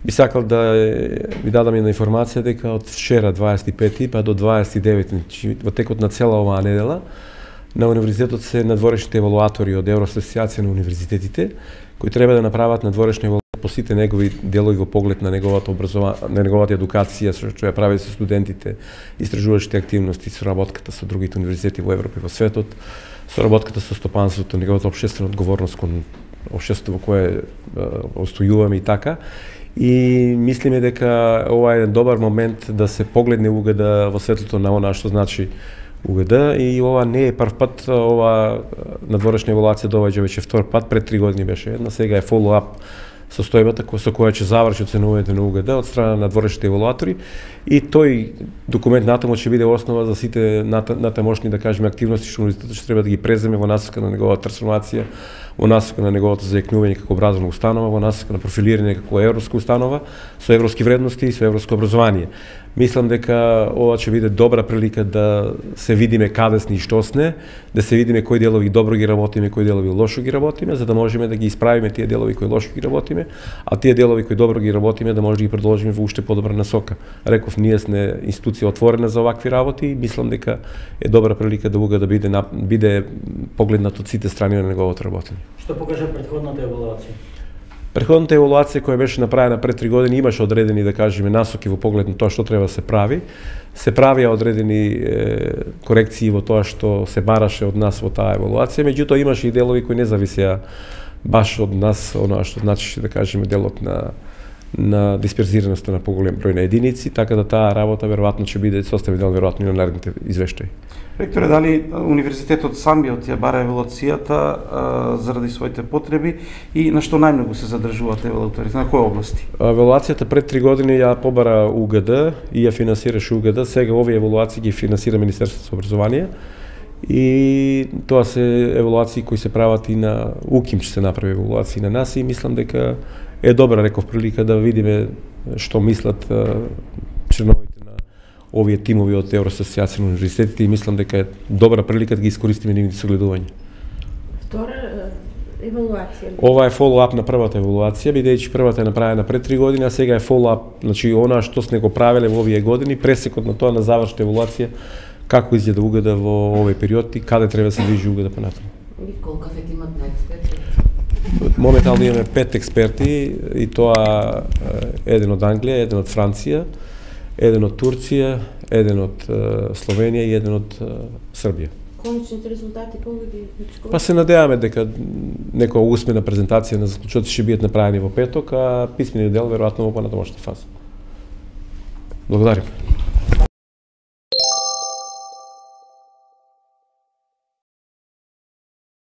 би сакал да ви дадам една информација дека од вчера 25 па до 29 во текот на цела оваа недела на универзитетот се надворешните евалуатори од Евроасоциација на универзитетите кои треба да направат надворешни евалуации по сите негови делови во поглед на неговата на неговата едукација, што ја прави со студентите, истражувачите активности, соработката со другите универзитети во Европа и во светот, соработката со стопанството, неговата општествена одговорност кон општеството во кое остојуваме и така. И мислиме дека ова е еден добар момент да се погледне УГД во светлото на она што значи УГД и ова не е прв пат, ова надворешна евалуација доаѓа веќе втор пат, пред 3 години беше една, сега е фоллоуап состојбата со која ќе заврши оценувањето на УГД од страна на надворешните евалуатори и тој документ натаму ќе биде основа за сите натамошни, да кажеме, активности што универзитетот ќе треба да ги преземе во насока на неговата трансформација, во насока на неговото зајакнување како образовна установа, во насока на профилирање како европска установа со европски вредности и со европско образование. Мислам дека ова ќе биде добра прилика да се видиме каде сме и што сме, да се видиме кои делови добро ги работиме, кои делови лошо ги работиме, за да можеме да ги исправиме тие делови кои лошо ги работиме, а тие делови кои добро ги работиме да може да ги продолжиме во уште подобра насока. Реков, ние сме институција отворена за овакви работи и мислам дека е добра прилика да уга да биде погледнат од сите страни на неговото работење. Што покажа претходната евалуација? Претходната евалуација која беше направена пред 3 години имаше одредени, да кажеме, насоки во поглед на тоа што треба да се прави. Се правија одредени корекции во тоа што се бараше од нас во таа евалуација, меѓутоа имаше и делови кои не зависеа баш од нас, оноа што значи, да кажеме, делот на дисперзираноста на поголем број на единици, така да таа работа веројатно ќе биде составен дел веројатно и на наредните извештаи. Ректоре, дали универзитетот сам ја бара евалуацијата заради своите потреби и на што најмногу се задржуваат евалуаторите, на кои области? Евалуацијата пред 3 години ја побара УГД и ја финансираше УГД, сега овие евалуации ги финансира Министерството за образование и тоа се евалуации кои се прават и на УКИМ, ќе се направи евалуации на нас и мислам дека е добра, реков, прилика да видиме што мислат членовите овие тимови од Евроасоциација на универзитетите и мислам дека е добра прилика да ги искористиме нивните согледувања. Втора евалуација? Ова е фоллоуап на првата евалуација, бидејќи првата е направена пред 3 години, а сега е фоллоуап, значи она што сме го правеле во овие години, пресекот на тоа на завршната евалуација, како изгледа УГД во овој период и каде треба да се движи УГД понатаму. И колку се имат на експерти? Моментално имаме 5 експерти и тоа еден од Англија, еден од Франција, еден од Турција, еден од Словенија и еден од Србија. Конечните резултати колку ги вичкувате? Па се надеваме дека некоја усмена презентација на заклучоци ќе бидат направени во петок, а писмениот дел веројатно во понатамошна фаза. Благодарам.